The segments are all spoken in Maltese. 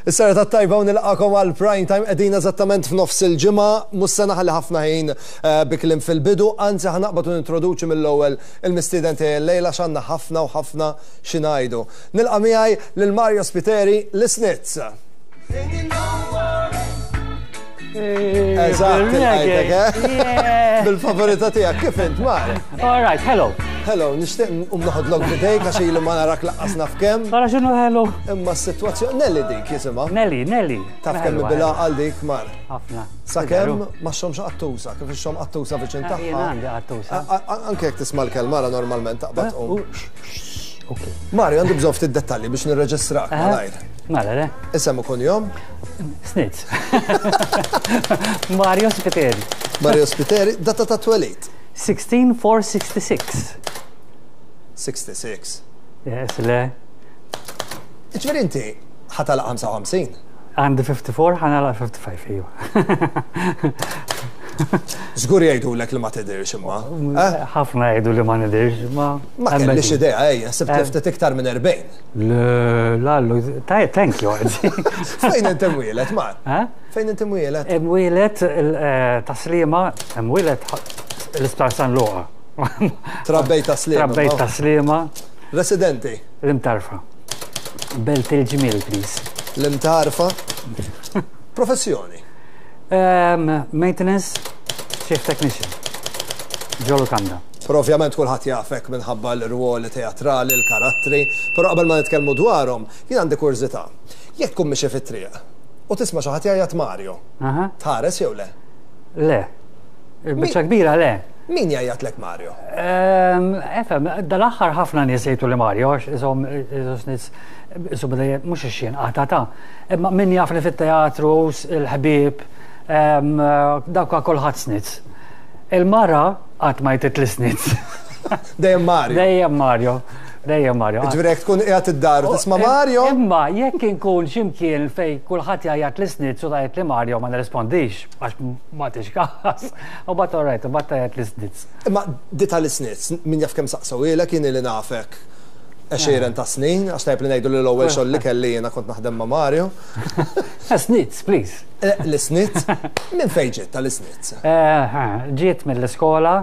Is-serata t-tajba u nilqakom għal prime time qegħdin eżattament f'nofs il-ġimgħa, mhux se naħli ħafna ħin eh, bi kliem fil-bidu, anzi ħa naqbad u nintroduċi mill-ewwel il-mistieden tiegħi llejla x'għandna ħafna u ħafna xi ngħidu. Nilqa' miegħi lil Mario Spiteri l-Isnitz. Eżatt, il-għajtek, eh? Bil-favorita tiegħek, kif int, Mar? All right, hello. Hello, nixtieq nqum noħodlok bidejk għax ilu ma narak laqqas naf kemm. Tara x'inhu hello. Imma s-sitwazzjoni Nelly dik jisimha. Nelly, Nelly. Taf kemm bila għal dik mar. Ħafna. Sakemm ma xomx qattusa, kif ixxom qattusa viċin ah, tagħha. Jien għandi qattusa. Anke jekk tisma' l-kelma ra normalment taqbad eh, tqum. Mario, għandi bżonn ftit dettalji biex nirreġistrak Eh? malajr. Mela, le? Isem u kunjom? Snitz. Mario Spiteri. Mario Spiteri, data ta' twelid. 16466. 66. Yes, le. Ġifieri inti ħatalaq 55. Għandi 54, ħanala 55, iju. Żgur jgħidulek li ma tidhirx imma. Eh? Ħafna jgħidu li ma nidhirx, ma. Ma kellix idea, ejja, sibt li ftit iktar minn 40. Le, lallu, tajjeb, thank you. Fejn inti mwielet, Mar? Eh? Fejn inti mwielet? Mwielet eh, taslima, mwielet l-isptar San Luqa. Trabbejt taslima. Trabbejt taslima. Residenti? L-imtarfa. Belt il-ġmiel, please. L-imtarfa? Professjoni? Um, maintenance Chief Technician. Ġo lukanda. Però ovvjament kulħadd jafek minħabba l-irwoli teatrali, l-karattri, però qabel ma nitkellmu dwarhom, jien għandi kurżità. Jekk tkun mixi fit-triq u tisma' xi ħadd jgħajjat Mario, tħares jew le? Le. Il-biċċa kbira le. Min jgħajjatlek Mario? Ehm, efem, dal-aħħar ħafna nies jgħidu li Mario, għax isom nies isom mhux ix-xien qatata. Imma min jafni fit-teatru, il-ħbieb, dawk kulħadd snitz. Il-mara qatt ma jtit l-snitz. Dejjem Mario. Dejjem Mario. Dejjem Mario. Ġifieri jekk tkun qiegħed id-dar u tisma' Mario. Imma jekk inkun x'imkien fejn kulħadd jgħajjat l-isnitz u tgħid li Mario ma nirrispondix għax ma tix każ. U bat all right, u bat tgħajjat l-isnitz. Imma di tal-isnitz, min jaf kemm saqsewhielek jien ili nafek għexieren ta' snin, għax tajjeb li ngħidu li l-ewwel xogħol li kelli jiena kont naħdem ma' Mario. Snitz, please. Eh, l-isnitz? Minn fejn ġiet tal-isnitz? Eh, ġiet mill-iskola,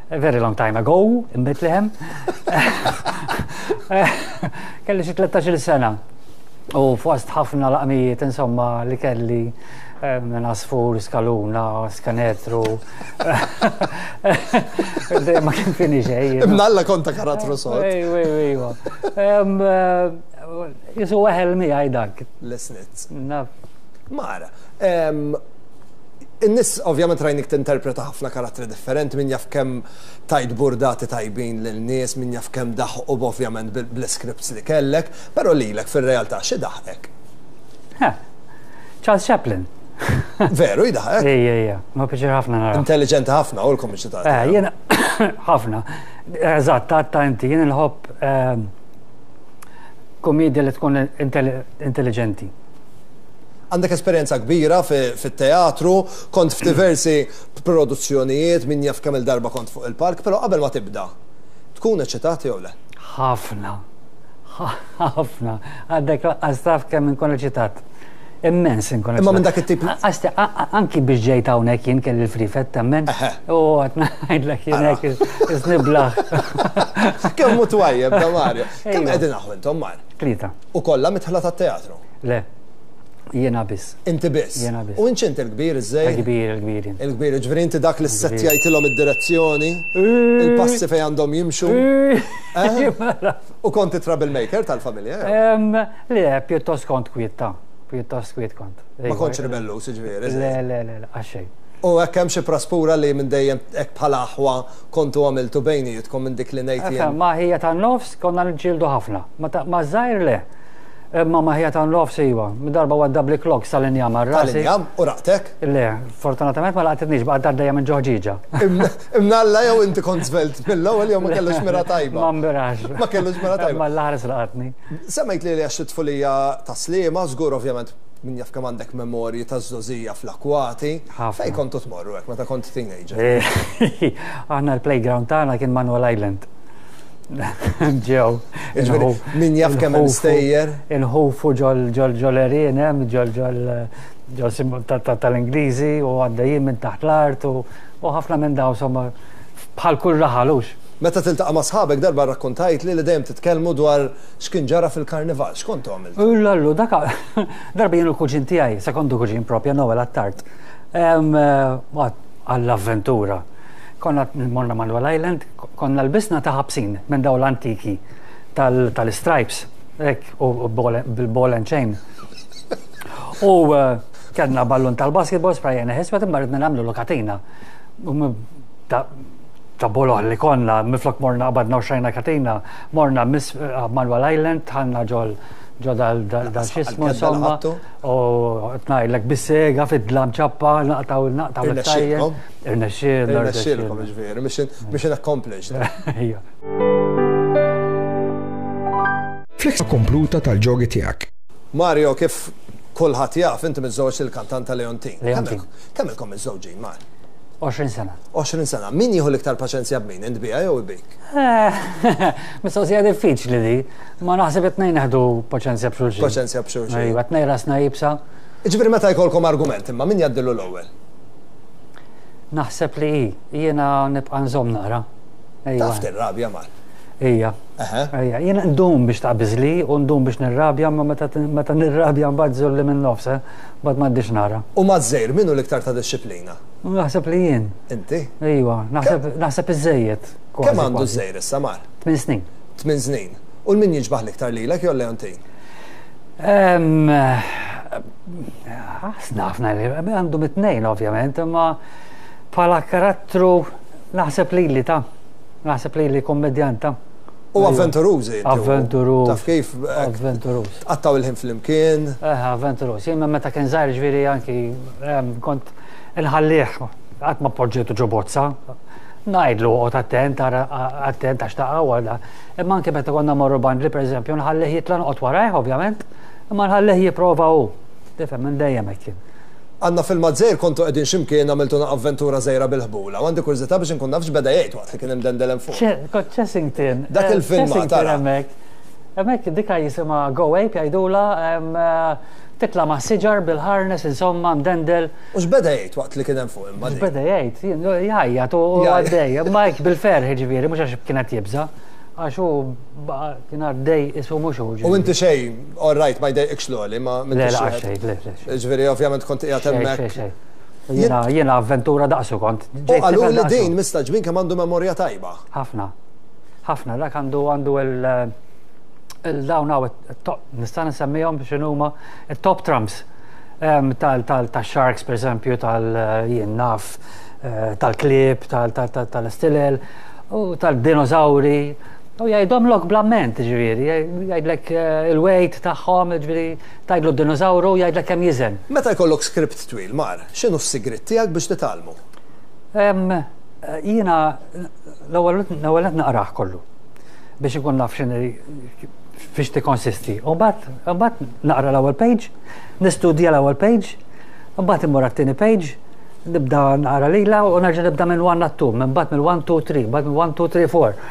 a very long time ago, in Bethlehem. Eh, kelli xi 13-il sena. U fost ħafna laqmijiet, insomma, li kelli minn għasfur, skaluna, skanetru. Dejjem ma kien fini xejn. Imnalla konta karattru sod. Ejwa, ejwa. Jisu weħel miegħi dak. L-isnitz. Naf. Mara, in-nies ovvjament rajnik tinterpreta ħafna karattri differenti, min jaf kemm tajt burdati tajbin lil nies, min jaf kemm daħqu ovvjament bl-scripts li kellek, però lilek fir-realtà xi daħqek? Charles Chaplin. Veru, jidaħek? Ejja, ejja, ma piċir ħafna nara. Intelligenti ħafna u l-komiċi ta' Eh, jena, ħafna. Eżatt, ta' ta' inti, jien nħobb ehm, komedja li tkun intelligenti. Għandek esperjenza kbira fit-teatru, kont f'diversi produzzjonijiet, min jaf kemm il-darba kont fuq il-palk, però qabel ma tibda, tkun eċitat jew le? Ħafna. Ħafna. Għaddek laqqas taf kemm inkun eċitat. Immens inkun Imma minn dak it-tip. Għax anki biex ġejt hawnhekk jien kelli l-frifet temmen. U għad ngħidlek jien hekk isniblaħ. Kemm hu twajjeb da Mario. Kemm qegħdin aħu intom Mar? Tlieta. U kollha mitħla tat-teatru? Le. Jiena biss. Inti biss? Jiena biss. U inti il-kbir iż-żejr? Il-kbir, il-kbir. Il-kbir, ġifieri inti dak li ssettjajtilhom id-direzzjoni, il-passi fejn għandhom jimxu. Eh? Mela. U kont it-troublemaker tal-familja? Le, pjuttost kont kwiet ta' pjuttost kwiet kont. Ma kontx ribelluż, jiġifieri? Le, le, le, għax xejn. U hekk hemm xi praspura li minn dejjem hekk bħala aħwa kontu għamiltu bejnietkom minn dik li ngħid jien? Ma' ħija tan-nofs konna niġġieldu ħafna. Ma' żgħir le. Imma ma' ħija tan-nofs iva. Darba waddabli clocks tal-injam għal rasi. Tal-injam? U laqtek? Le, fortunatament ma laqtitnix, baqgħet għaddejja minn ġo ħġieġa. Imnalla jew inti kont żvelt mill-ewwel jew ma kellux mira tajba. Ma mbirax. Ma kellux mira tajba. Ma l-ħares laqatni. Semmejt li għax it-tfulija ta' Sliema, żgur ovvjament min jaf kemm għandek memorji ta' żgħożija fl-akwati. Fejn kontu tmorru hekk meta kont teenager? Aħna l-playground tagħna kien Manuel Island. Ġew. Min jaf kemm hemm stejjer. Inħufu ġol ġol ġol erien hemm ġol ġol ġol tal-Ingliżi u għaddejjin minn taħt l-art u ħafna minn daw somma bħal kull raħal hux. Meta tiltaqa' ma' sħabek darba rrakkontajtli li dejjem titkellmu dwar x'kien ġara fil-karnival. X'kontu għamiltu? Ullallu, dak darba jien u l-kuġin tiegħi, sekondu kuġin propja Noel Attard, għall-avventura. Konna morna Manuel Island, konna lbisna ta' ħabsin minn dawn l-antiki tal-stripes, hekk, u bil-ball and chain. U eh, kellna ballun tal-basketball sprajjena ħiswet imma ridna nagħmlu lokatina. Ta' boloħ li konna, miflok morna qabadna u xajna katina, morna Miss eh, Manuel Island, tħanna ġol ġo dal xismu insomma. U tnajlek bis-sega fid-dlam ċappa, naqtaw naqtaw l-tajjeb. Irnexxielna. Irnexxielkom ġifieri, mission accomplished. Ejja. Flex kompluta tal-ġogi tiegħek. Mario, kif kulħadd jaf, inti miżżewweġ lill-kantanta Leontine. Leontine. Kemm ilkom miżżewġin, Mar? 20 sena. 20 sena. Min jieħu l-iktar paċenzja b'min, int biha jew bik? Mistoqsija diffiċli di. Ma naħseb it-tnejn neħdu paċenzja b'xulxin. Paċenzja b'xulxin. Ejwa, tnejn rasna iebsa. Jiġifieri meta jkollkom argument imma min jgħaddilu l-ewwel? Naħseb li hi. Jiena nibqa' nżomm naqra. Ejwa. Taf tirrabja Mar. Ija. Ejja, jiena ndum biex taqbiżli u ndum biex nirrabja, imma meta nirrabja mbagħad żulli minn nofs, eh? Mbagħad m'għaddix nara. U maż-żgħir min hu l-iktar ta' dixxiplina? Naħseb li jien. Inti? Ejwa, naħseb iżżejjed. Kemm għandu ż-żgħir issa Mar? Tminn snin. Tminn snin. U l-min jiġbaħ l-iktar lilek jew Leontine? Ħafna li għandu mit-tnejn ovvjament, imma bħala karattru naħseb lili ta' naħseb lili kommedjanta. U avventurużi. Avventuruż. Taf kif? Eh, avventuruż. Tqattaw il-ħin flimkien. Eh, avventuruż. Jien meta kien żgħir ġifieri anki kont inħallih qatt ma poġġejtu ġo bozza. Ngħidlu oqgħod attent, ara attent għax taqa' u għal Imma anke meta konna mmorru bandli pereżempju nħallih jitla' noqgħod warajh ovvjament, imma nħallih jipprova hu. Tifhem minn dejjem hekk kien. Għandna filmat żgħir kontu qegħdin xi mkien għamiltuna avventura żgħira bil-ħbula u għandi kurżità biex inkun naf x'beda jgħid waqt li kien imdendel hemm fuq. Kont Chessington. Dak il-filmat ara. Hemmhekk. Hemmhekk dika jisimha Go Ape jgħidulha titla' mas-siġar bil-harness insomma mdendel. U x'beda jgħid waqt li kien hemm fuq imma dik? X'beda jgħid? Jgħajjat u għaddej, imma hekk bil-ferħ jiġifieri mhux għax kien qed jibża', għax hu kien għaddej qisu mhux hu. U inti xejn, all right, ma jdejqikx l-għoli, ma Le, le, xejn, le, le. Jiġifieri ovvjament kont qiegħed hemmhekk. Xejn, xejn. Jiena, jiena avventura daqsu kont. U qaluli din mistagħġbin kemm għandu memorja tajba. Ħafna. Ħafna, dak għandu għandu il dawn hawn nista' nsemmihom x'inhuma it-top trumps. Tal-sharks, per eżempju, tal-jien naf, eh, tal-klieb, tal-istilel, u tal-dinożawri, u jgħidhomlok bl-amment, ġifieri, jgħidlek eh, il-weight tagħhom, ġifieri, tgħidlu d-dinożawru, jgħidlek kemm jiżen. Meta jkollok script twil, Mar, x'inhu s-sigriet tiegħek biex titgħallmu? Jiena l-ewwel qed naqrah kollu biex inkun naf x'inhi fiex tikkonsisti. U mbagħad naqra l-ewwel page, nistudja l-ewwel page, mbagħad immur għat-tieni page, nibda naqra lila u nerġa' nibda minn 1 għat 2, minn mbagħad minn 1 2 3, mbagħad minn 1 2 3 4.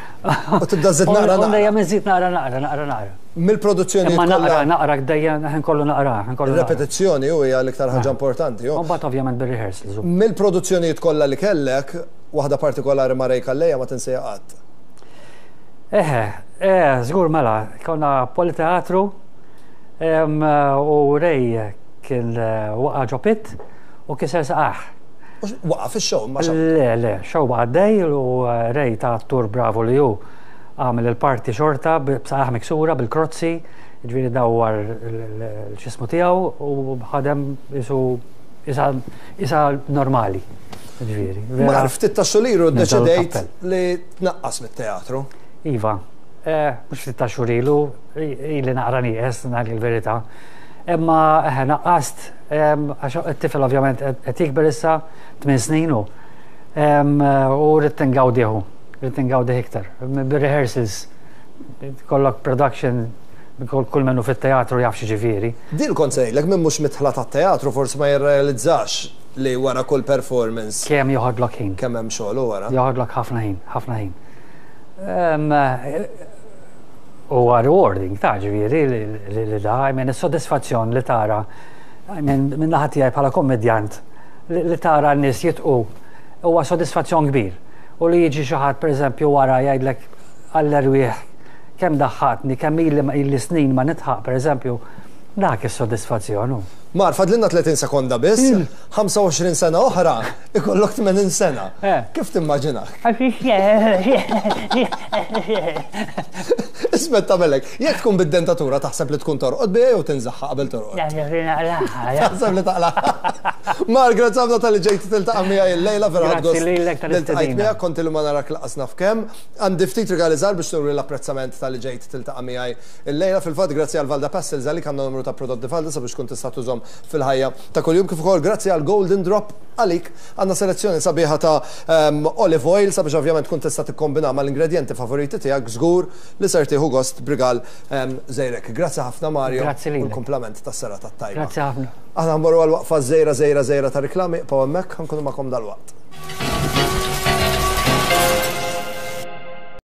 U tibda żid naqra naqra. Dejjem inżid naqra naqra naqra naqra. Mill-produzzjoni Imma naqra naqra dejjem ħin kollu naqra, ħin kollu. Repetizzjoni u hija l-iktar ħaġa importanti. U mbagħad ovvjament bir-rehearsals. Mill-produzzjonijiet kollha li kellek, waħda partikolari ma' Ray Calleja ma tinsejha qatt. Eħe, eh, żgur mela, konna politeatru u Ray kien eh, waqa' ġo pit u kiser saqajh. Waqa' fix-show ma Le, le, show baqa' għaddej u eh, Ray ta' attur bravu li hu għamel il-parti xorta b'saqajh miksura bil-krozzi, ġifieri dawwar l-xismu tiegħu u ħadem isu isa normali. Ġifieri. Mar ftit ta' xuliru ddeċidejt li tnaqqas mit-teatru. Iva, eh, mhux ftit ta' xhur ilu, ili naqra nieqes, ngħid il-verità. Imma eh, naqqast, għax it-tifel ovvjament qed jikber issa tmien snin hu. U rrid ingawdihu, rrid ingawdih iktar. Bir-rehearsals, kollok production, kull minnu fit-teatru jaf x'ġifieri. Din kont se ngħidlek, min mhux midħla tat-teatru forsi ma jirrealizzax li wara kull performance. Kemm joħodlok ħin. Kemm hemm xogħol u wara. Joħodlok ħafna ħin, ħafna ħin. Huwa rewarding ta' ġifieri li da, I mean, is-sodisfazzjon li tara minn naħa tiegħi bħala kommedjant li tara n-nies jitqu huwa sodisfazzjon kbir. U li jiġi xi ħadd pereżempju wara jgħidlek għall-erwieħ kemm daħħatni, kemm ili ili snin ma nidħaq pereżempju, dak is-sodisfazzjon hu. Mar, fadlilna 30 sekonda biss, 25 sena oħra, ikollok 80 sena. Eh. Kif timmaġinak? Ismet tagħmelek, jekk tkun bid-dentatura taħseb li tkun torqod biha jew tinżaħħa qabel torqod? Taħseb li taqla'. Mar, grazzi ħafna tal-li ġejt tiltaqa' miegħi illejla vera ħadt gost. Grazzi lilek tal-istedina. Miegħek kont ilu ma narak laqas naf kemm. Għandi ftit rigali żgħar biex nuri l-apprezzament tal-li ġejt tiltaqa' miegħi Illejla fil-fatt grazzi għal Valda Pastels għalik għandna numru ta' prodotti Valda sabiex tkun tista' tużhom fil-ħajja ta' kuljum kif ukoll grazzi għal Golden Drop għalik għandna selezzjoni sabiħa ta' ehm, olive oil sabiex ovvjament tkun tista' tikkombina mal-ingredjenti favoriti tiegħek żgur li ser tieħu gost b'rigal ehm, żejrek. Grazzi ħafna Mario. Grazzi lilek. U l-kumplament tas-serata t-tajba. Grazzi ħafna. Aħna nmorru għal waqfa żejra żejra żejra ta' riklami, ibqgħu hemmhekk, ħa nkunu magħkom dalwaqt.